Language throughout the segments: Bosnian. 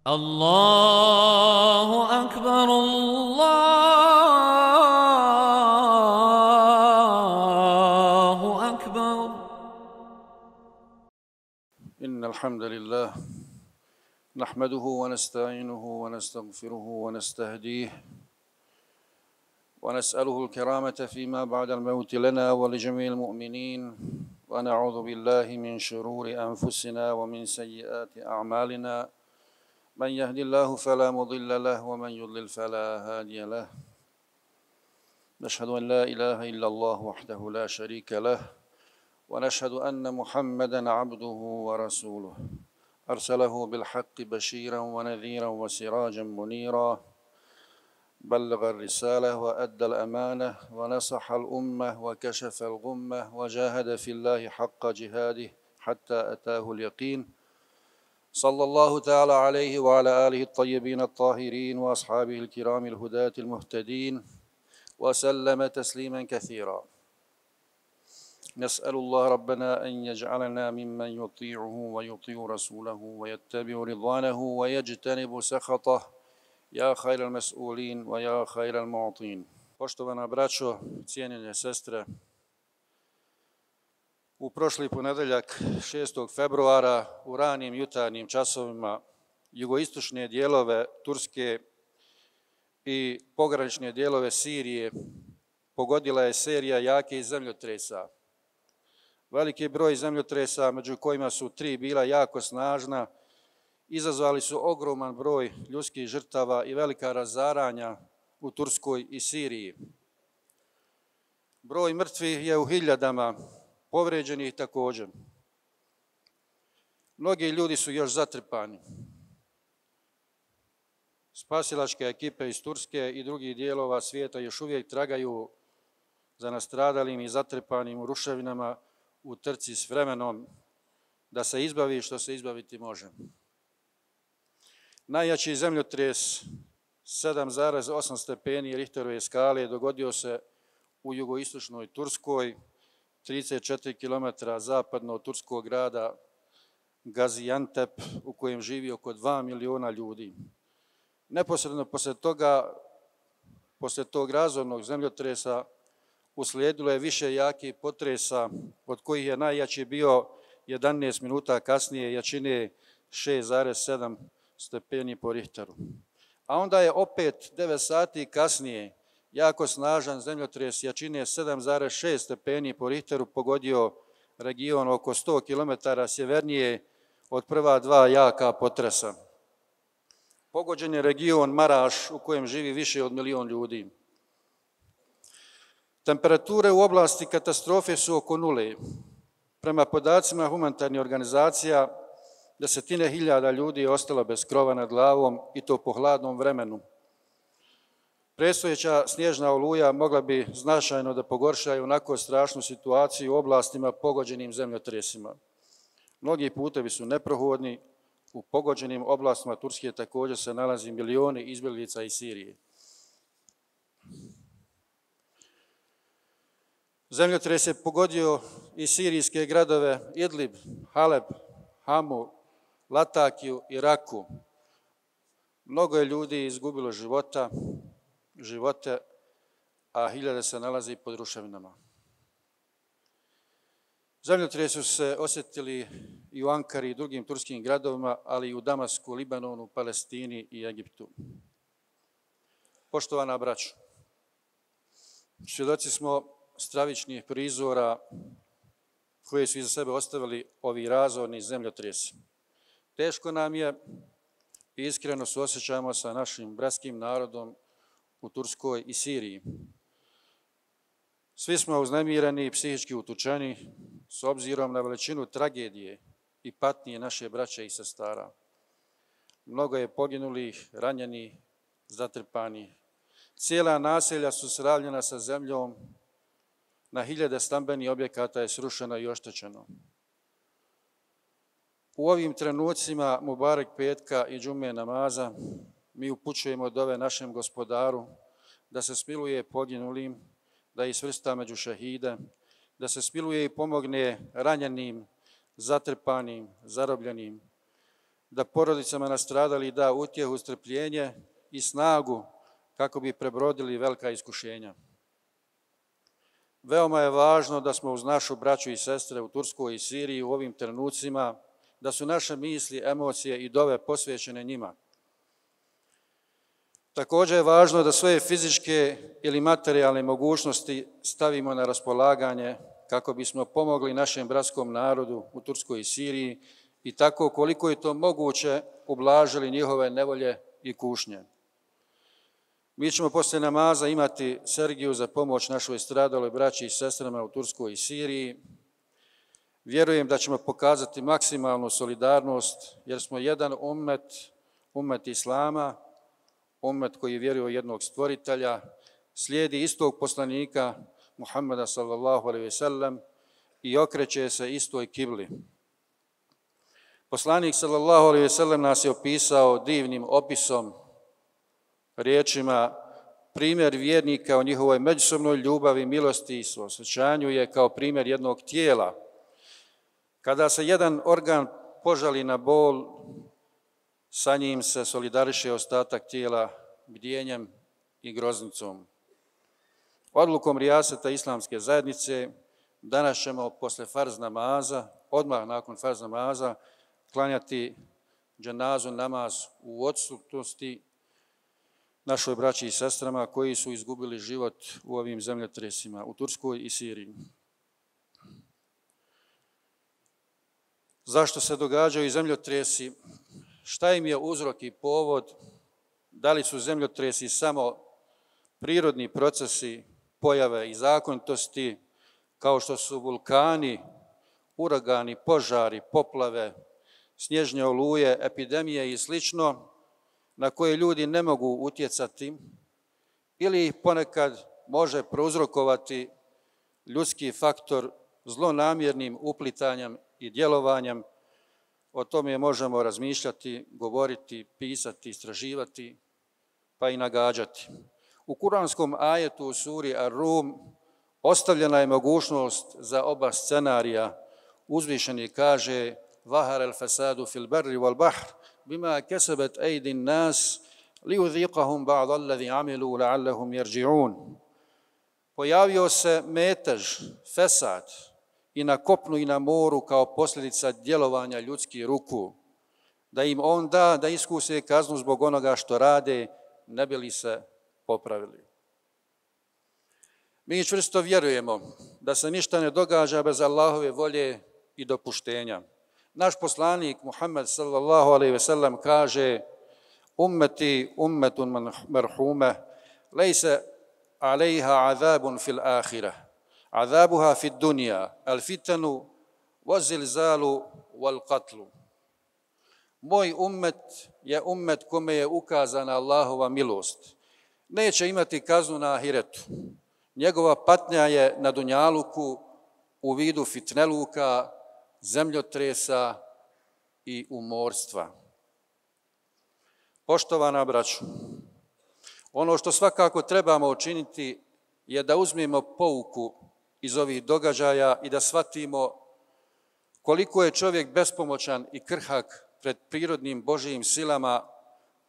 الله أكبر الله أكبر. إن الحمد لله نحمده ونستعينه ونستغفره ونستهديه ونسأله الكرامة فيما بعد الموت لنا ولجميع المؤمنين ونعوذ بالله من شرور أنفسنا ومن سيئات أعمالنا من يهد الله فلا مضل له ومن يضلل فلا هادي له نشهد أن لا إله إلا الله وحده لا شريك له ونشهد أن محمدًا عبده ورسوله أرسله بالحق بشيرا ونذيرا وسراجا منيرا بلغ الرسالة وأدى الأمانة ونصح الأمة وكشف الغمة وجاهد في الله حق جهاده حتى أتاه اليقين صلى الله تعالى عليه وعلى آله الطيبين الطاهرين وأصحابه الكرام الهداة المهتدين وسلم تسليما كثيرا. نسأل الله ربنا أن يجعلنا ممن يطيعه ويطيع رسوله ويتبع رضوانه ويجتنب سخطه يا خير المسؤولين ويا خير المعطين. Poštovana braćo, cijenjene sestre, u prošli ponedeljak 6. februara u ranim jutarnjim časovima jugoistočne dijelove Turske i pogranične dijelove Sirije pogodila je serija jakih zemljotresa. Veliki broj zemljotresa, među kojima su 3 bila jako snažna, izazvali su ogroman broj ljudskih žrtava i velika razaranja u Turskoj i Siriji. Broj mrtvih je u hiljadama, povređenih također. Mnogi ljudi su još zatrpani. Spasilačke ekipe iz Turske i drugih dijelova svijeta još uvijek tragaju za nastradalim i zatrpanim u ruševinama u trci s vremenom da se izbavi što se izbaviti može. Najjači zemljotres 7,8 stepeni Richterove skale dogodio se u jugoistočnoj Turskoj, 34 km zapadno od turskog grada Gaziantep, u kojem živi oko 2 miliona ljudi. Neposredno poslije tog razornog zemljotresa uslijedilo je više jakih potresa, od kojih je najjači bio 11 minuta kasnije jačine 6,7 stepeni po Richteru. A onda je opet 9 sati kasnije jako snažan zemljotres jačine 7,6 stepeni po Richteru pogodio region oko 100 km sjevernije od prva 2 jaka potresa. Pogođen je region Maraš u kojem živi više od 1 milion ljudi. Temperature u oblasti katastrofe su oko nule. Prema podacima humanitarnih organizacija, desetine hiljada ljudi je ostalo bez krova nad glavom i to po hladnom vremenu. Predstojeća snježna oluja mogla bi značajno da pogorša i onako strašnu situaciju u oblastima pogođenim zemljotresima. Mnogi putevi su neprohodni, u pogođenim oblastima Turske također se nalazi milioni izbjeglica iz Sirije. Zemljotres je pogodio i sirijske gradove Idlib, Haleb, Hamu, Latakiju i Raku. Mnogo je ljudi izgubilo živote, a hiljade se nalazi pod ruševinama. Zemljotresi su se osjetili i u Ankari i drugim turskim gradovima, ali i u Damasku, Libanonu, Palestini i Egiptu. Poštovana braćo, svjedoci smo stravičnih prizora koje su iza sebe ostavili ovi razorni zemljotresi. Teško nam je i iskreno suosjećamo sa našim bratskim narodom u Turskoj i Siriji. Svi smo uznemireni i psihički utučeni s obzirom na veličinu tragedije i patnje naše braće i sestara. Mnogo je poginulih, ranjenih, zatrpanih. Cijela naselja su sravnjena sa zemljom, na hiljade stambenih objekata je srušeno i oštećeno. U ovim trenucima Mubarek petka i džume namaza mi upućujemo dove našem Gospodaru da se smiluje poginulim, da ih svrsta među šehide, da se smiluje i pomogne ranjenim, zatrpanim, zarobljenim, da porodicama nastradalih da utjehu, strpljenje i snagu kako bi prebrodili velika iskušenja. Veoma je važno da smo uz našu braću i sestre u Turskoj i Siriji u ovim trenucima, da su naše misli, emocije i dove posvećene njima. Također je važno da svoje fizičke ili materijalne mogućnosti stavimo na raspolaganje kako bismo pomogli našem bratskom narodu u Turskoj i Siriji i tako koliko je to moguće ublažili njihove nevolje i kušnje. Mi ćemo poslije namaza imati Sergiju za pomoć našoj stradaloj braći i sestrama u Turskoj i Siriji. Vjerujem da ćemo pokazati maksimalnu solidarnost jer smo jedan ummet Islama, ummet koji vjeruje u jednog stvoritelja, slijedi istog poslanika Muhammeda sallallahu alejhi ve sellem i okreće se istoj kibli. Poslanik sallallahu alejhi ve sellem nas je opisao divnim opisom, riječima, primjer vjernika o njihovoj međusobnoj ljubavi, milosti i suosjećanju je kao primjer jednog tijela. Kada se jedan organ požali na bol, sa njim se solidariše ostatak tijela bdjenjem i groznicom. Odlukom rijaseta Islamske zajednice danas ćemo posle farz namaza, odmah nakon farz namaza, klanjati dženazu namaz u odsutnosti našoj braći i sestrama koji su izgubili život u ovim zemljotresima u Turskoj i Siriji. Zašto se događaju zemljotresi? Šta im je uzrok i povod? Da li su zemljotresi samo prirodni procesi, pojave i zakonitosti, kao što su vulkani, uragani, požari, poplave, snježne oluje, epidemije i slično, na koje ljudi ne mogu utjecati, ili ih ponekad može prouzrokovati ljudski faktor zlonamjernim uplitanjem i djelovanjem. O tome možemo razmišljati, govoriti, pisati, istraživati, pa i nagađati. U kuranskom ajetu u suri Ar-Rum ostavljena je mogućnost za oba scenarija. Uzvišeni kaže: "Zahara al-fasadu fil barri wal bahr bima kasabat aydin nas liyudhiqahum ba'd alladhi amilu la'allahum yarji'un." Pojavio se metež, fesad, i na kopnu i na moru kao posljedica djelovanja ljudskih ruku, da im on da da iskuse kaznu zbog onoga što rade, ne bi li se popravili. Mi čvrsto vjerujemo da se ništa ne događa bez Allahove volje i dopuštenja. Naš poslanik Muhammed sallallahu alejhi ve sellem kaže: "Ummeti ummetun marhume, lejse alejha azabun fil ahireh. Azabuha fid dunja, al fitanu, wazilzalu, wal qatlu." Moj ummet je ummet kome je ukazana Allahova milost. Neće imati kaznu na ahiretu. Njegova patnja je na dunjaluku u vidu fitneluka, zemljotresa i umorstva. Poštovana braćo, ono što svakako trebamo učiniti je da uzmemo pouku iz ovih događaja i da shvatimo koliko je čovjek bespomoćan i krhak pred prirodnim Božijim silama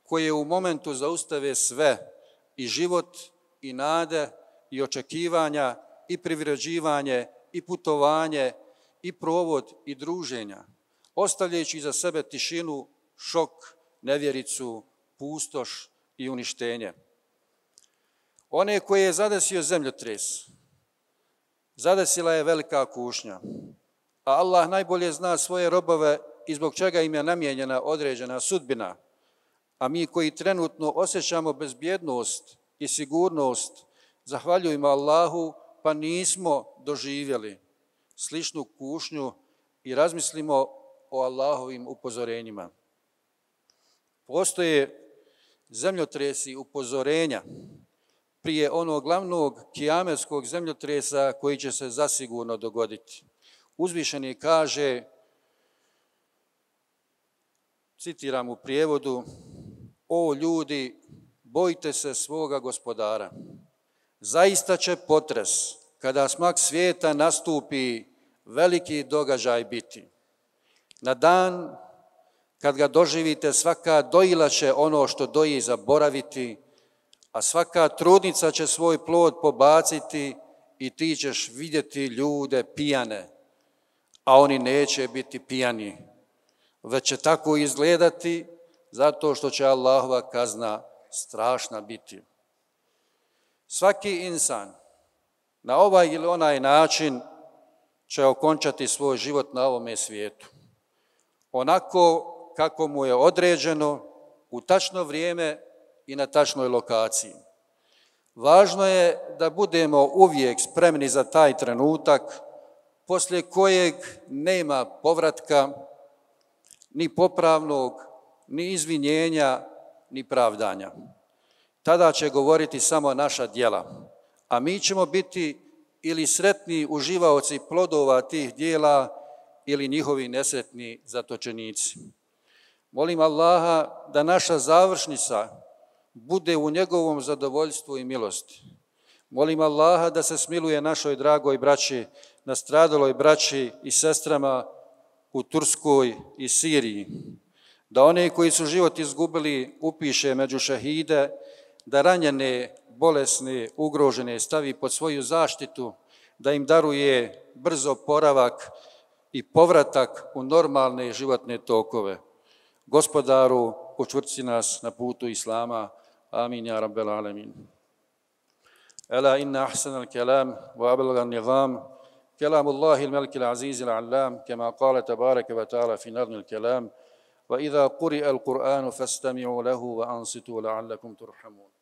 koje u momentu zaustave sve, i život, i nade, i očekivanja, i privređivanje, i putovanje, i provod, i druženja, ostavljajući iza sebe tišinu, šok, nevjericu, pustoš i uništenje. One koje je zadesio zemljotres, zadesila je velika kušnja, a Allah najbolje zna svoje robove i zbog čega im je namijenjena određena sudbina, a mi koji trenutno osjećamo bezbjednost i sigurnost, zahvaljujemo Allahu pa nismo doživjeli sličnu kušnju i razmislimo o Allahovim upozorenjima. Postoje zemljotresi upozorenja prije onog glavnog kijametskog zemljotresa koji će se zasigurno dogoditi. Uzvišeni kaže, citiram u prijevodu: "O ljudi, bojte se svoga gospodara. Zaista će potres, kada smak svijeta nastupi, veliki događaj biti. Na dan kad ga doživite, svaka dojila će ono što doji zaboraviti, a svaka trudnica će svoj plod pobaciti i ti ćeš vidjeti ljude pijane, a oni neće biti pijani, već će tako izgledati zato što će Allahova kazna strašna biti. Svaki insan na ovaj ili onaj način će okončati svoj život na ovome svijetu. Onako kako mu je određeno u tačno vrijeme i na tačnoj lokaciji. Važno je da budemo uvijek spremni za taj trenutak poslije kojeg nema povratka, ni popravnog, ni izvinjenja, ni pravdanja. Tada će govoriti samo naša djela, a mi ćemo biti ili sretni uživaoci plodova tih djela ili njihovi nesretni zatočenici. Molim Allaha da naša završnica bude u njegovom zadovoljstvu i milosti. Molim Allaha da se smiluje našoj dragoj braći, nastradaloj braći i sestrama u Turskoj i Siriji, da one koji su život izgubili upiše među šehide, da ranjene, bolesne, ugrožene stavi pod svoju zaštitu, da im daruje brzo poravak i povratak u normalne životne tokove. Gospodaru, učvrsti nas na putu Islama. Amin, ja rabbel alemin. Ela inna ahsanal kelam wa ablagan nizam kelamullahi al-maliki al-azizi al-allam kema qala tabaraka wa ta'ala fi nazmi al-kelam wa idha quri'a al-Qur'anu fastami'u lahu wa ansitu la'allakum turhamun.